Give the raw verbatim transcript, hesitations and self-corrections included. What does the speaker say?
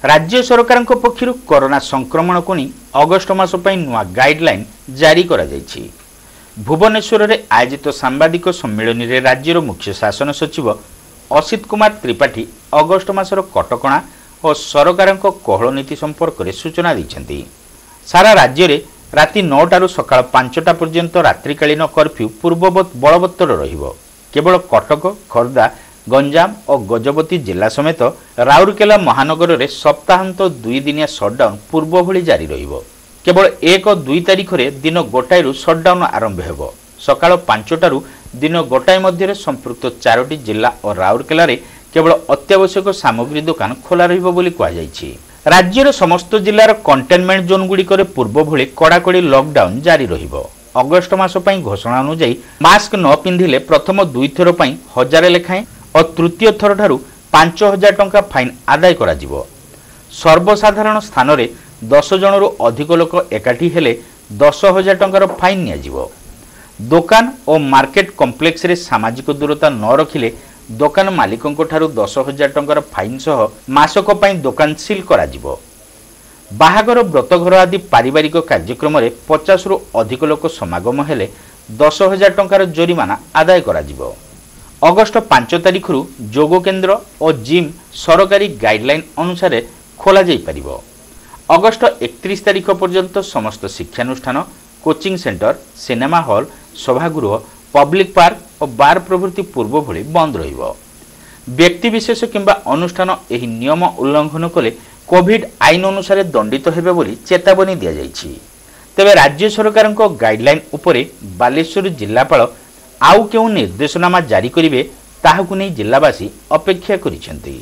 ରାଜ୍ୟ ସରକାରଙ୍କ ପକ୍ଷରୁ କରୋନା ସଂକ୍ରମଣକୁ ନେଇ ଅଗଷ୍ଟ ମାସ ପାଇଁ ନୂଆ ଗାଇଡଲାଇନ୍ ଜାରି କରାଯାଇଛି। ଭୁବନେଶ୍ୱରରେ ଆୟୋଜିତ ସାମ୍ବାଦିକ ସମ୍ମିଳନୀରେ ରାଜ୍ୟର ମୁଖ୍ୟ ଶାସନ ସଚିବ ଅସିତ କୁମାର ତ୍ରିପାଠୀ ଅଗଷ୍ଟ ମାସର କଟକଣା ଓ ସରକାରଙ୍କ କୋହଳ ନୀତି ସମ୍ପର୍କରେ ସୂଚନା ଦେଇଛନ୍ତି। ସାରା ରାଜ୍ୟରେ ରାତି ନଅଟାରୁ ସକାଳ ପାଞ୍ଚଟା ପର୍ଯ୍ୟନ୍ତ ରାତ୍ରିକାଳୀନ କର୍ଫ୍ୟୁ ପୂର୍ବବତ୍ ବଳବତ୍ତର ରହିବ। କେବଳ କଟକ, ଖୋର୍ଦ୍ଧା, ଗଞ୍ଜାମ ଓ ଗଜପତି ଜିଲ୍ଲା ସମେତ ରାଉରକେଲା ମହାନଗରରେ ସପ୍ତାହାନ୍ତ ଦୁଇ ଦିନିଆ ସଟ୍ଡାଉନ୍ ପୂର୍ବଭଳି ଜାରି ରହିବ। କେବଳ ଏକ ଦୁଇ ତାରିଖରେ ଦିନ ଗୋଟାଏରୁ ସଟ୍ଡାଉନ୍ ଆରମ୍ଭ ହେବ। ସକାଳ ପାଞ୍ଚଟାରୁ ଦିନ ଗୋଟାଏ ମଧ୍ୟରେ ସମ୍ପୃକ୍ତ ଚାରୋଟି ଜିଲ୍ଲା ଓ ରାଉରକେଲାରେ କେବଳ ଅତ୍ୟାବଶ୍ୟକ ସାମଗ୍ରୀ ଦୋକାନ ଖୋଲା ରହିବ ବୋଲି କୁହାଯାଇଛି। ରାଜ୍ୟର ସମସ୍ତ ଜିଲ୍ଲାର କଣ୍ଟେନମେଣ୍ଟ ଜୋନ୍ଗୁଡ଼ିକରେ ପୂର୍ବଭଳି କଡ଼ାକଡ଼ି ଲକଡାଉନ୍ ଜାରି ରହିବ। ଅଗଷ୍ଟ ମାସ ପାଇଁ ଘୋଷଣା ଅନୁଯାୟୀ ମାସ୍କ ନ ପିନ୍ଧିଲେ ପ୍ରଥମ ଦୁଇଥର ପାଇଁ ହଜାରେ ଲେଖାଏଁ ଓ ତୃତୀୟ ଥରଠାରୁ ପାଞ୍ଚ ହଜାର ଟଙ୍କା ଫାଇନ୍ ଆଦାୟ କରାଯିବ। ସର୍ବସାଧାରଣ ସ୍ଥାନରେ ଦଶ ଜଣରୁ ଅଧିକ ଲୋକ ଏକାଠି ହେଲେ ଦଶ ହଜାର ଟଙ୍କାର ଫାଇନ୍ ନିଆଯିବ। ଦୋକାନ ଓ ମାର୍କେଟ କମ୍ପ୍ଲେକ୍ସରେ ସାମାଜିକ ଦୂରତା ନ ରଖିଲେ ଦୋକାନ ମାଲିକଙ୍କଠାରୁ ଦଶ ହଜାର ଟଙ୍କାର ଫାଇନ୍ ସହ ମାସକ ପାଇଁ ଦୋକାନ ସିଲ୍ କରାଯିବ। ବାହାଘର, ବ୍ରତଘର ଆଦି ପାରିବାରିକ କାର୍ଯ୍ୟକ୍ରମରେ ପଚାଶରୁ ଅଧିକ ଲୋକ ସମାଗମ ହେଲେ ଦଶ ହଜାର ଟଙ୍କାର ଜୋରିମାନା ଆଦାୟ କରାଯିବ। ଅଗଷ୍ଟ ପାଞ୍ଚ ତାରିଖରୁ ଯୋଗ କେନ୍ଦ୍ର ଓ ଜିମ୍ ସରକାରୀ ଗାଇଡଲାଇନ୍ ଅନୁସାରେ ଖୋଲାଯାଇପାରିବ। ଅଗଷ୍ଟ ଏକତିରିଶ ତାରିଖ ପର୍ଯ୍ୟନ୍ତ ସମସ୍ତ ଶିକ୍ଷାନୁଷ୍ଠାନ, କୋଚିଂ ସେଣ୍ଟର, ସିନେମା ହଲ୍, ସଭାଗୃହ, ପବ୍ଲିକ୍ ପାର୍କ ଓ ବାର୍ ପ୍ରଭୃତି ପୂର୍ବଭଳି ବନ୍ଦ ରହିବ। ବ୍ୟକ୍ତିବିଶେଷ କିମ୍ବା ଅନୁଷ୍ଠାନ ଏହି ନିୟମ ଉଲ୍ଲଂଘନ କଲେ କୋଭିଡ୍ ଆଇନ ଅନୁସାରେ ଦଣ୍ଡିତ ହେବେ ବୋଲି ଚେତାବନୀ ଦିଆଯାଇଛି। ତେବେ ରାଜ୍ୟ ସରକାରଙ୍କ ଗାଇଡଲାଇନ୍ ଉପରେ ବାଲେଶ୍ୱର ଜିଲ୍ଲାପାଳ ଆଉ କେଉଁ ନିର୍ଦ୍ଦେଶନାମା ଜାରି କରିବେ ତାହାକୁ ନେଇ ଜିଲ୍ଲାବାସୀ ଅପେକ୍ଷା କରିଛନ୍ତି।